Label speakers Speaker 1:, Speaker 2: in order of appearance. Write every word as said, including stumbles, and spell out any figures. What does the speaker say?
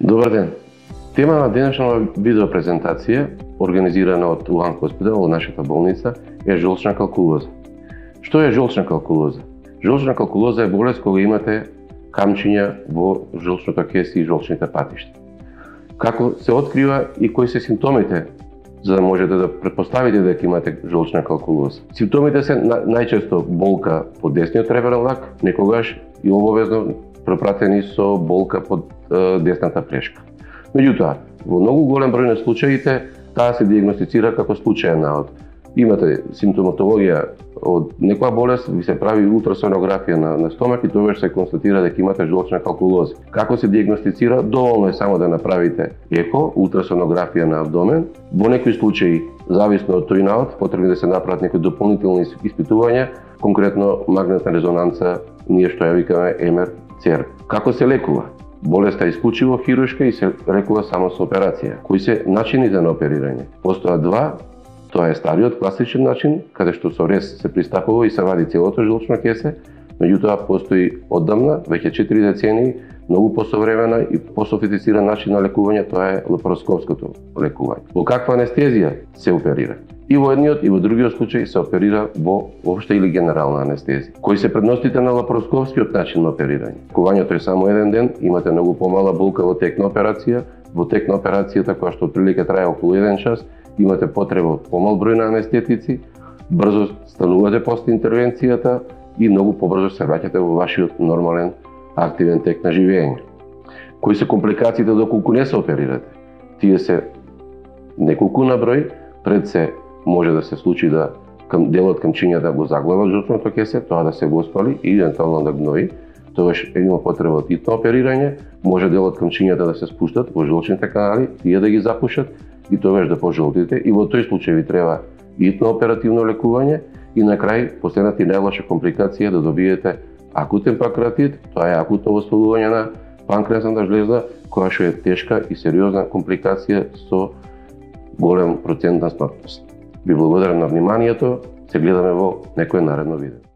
Speaker 1: Добар ден. Тема на денешна видеопрезентација, организирана од Улан Хоспитал, од нашата болница, е жолчна калкулоза. Што е жолчна калкулоза? Жолчна калкулоза е болест кога имате камчиња во жолчното кесе и жолчните патишта. Како се открива и кои се симптомите, за да можете да претпоставите дека имате жолчна калкулоза? Симптомите се на, најчесто болка по десниот реберен лак, некогаш и обовезно пропратени со болка под е, десната плешка. Меѓутоа, во многу голем број на случаите, таа се диагностицира како случаен наод. Имате симптоматологија од некоја болест, ви се прави ултрасонографија на, на стомак и тогаш се констатира дека имате жолчна калкулоза. Како се диагностицира? Доволно е само да направите еко, ултрасонографија на абдомен. Во некои случаи, зависно од тој наод, потребни да се направат некои дополнителни испитувања, конкретно магнетна резонанца, ние што ја викаме Ем Ер Цер. Како се лекува? Болеста е исклучиво хируршка и се лекува само со операција. Кои се начините на оперирање? Постојат два. Тоа е стариот класичен начин, каде што со рез се пристапува и се вади целото жолчно кесе. Меѓутоа постои оддамна, веќе четири децении, многу посовремена и пософистициран начин на лекување, тоа е лапароскопското лекување. Во каква анестезија се оперира? И во едниот и во другиот случај се оперира во општа или генерална анестезија. Кои се предностите на лапароскопскиот начин на оперирање? Лекувањето е само еден ден, имате многу помала болка во тек на операција. Во тек на операцијата, која што отприлика трае околу еден час, имате потреба од помал број на анестетици, брзо станувате после интервенцијата и многу побрзо се враќате во вашиот нормален активен тек на живење. Кои се компликациите доколку не се оперирате? Тие се неколку на број, пред се може да се случи да кам делот камчиња да го заглава жолчното кесе, тоа да се воспали и евентуално да гнои. Тогаш има потреба од итно оперирање, може делот камчињата да се спуштат во жолчните канали, тие да ги запушат и тогаш да пожолтите, и во тој случај ви треба итно оперативно лекување и на крај последната и најлоша компликација да добиете акутен панкреатит, тоа е акутно воспалување на панкреасната жлеза, која што е тешка и сериозна компликација со голем процент на смртност. Ви благодарам на вниманието, се гледаме во некое наредно видео.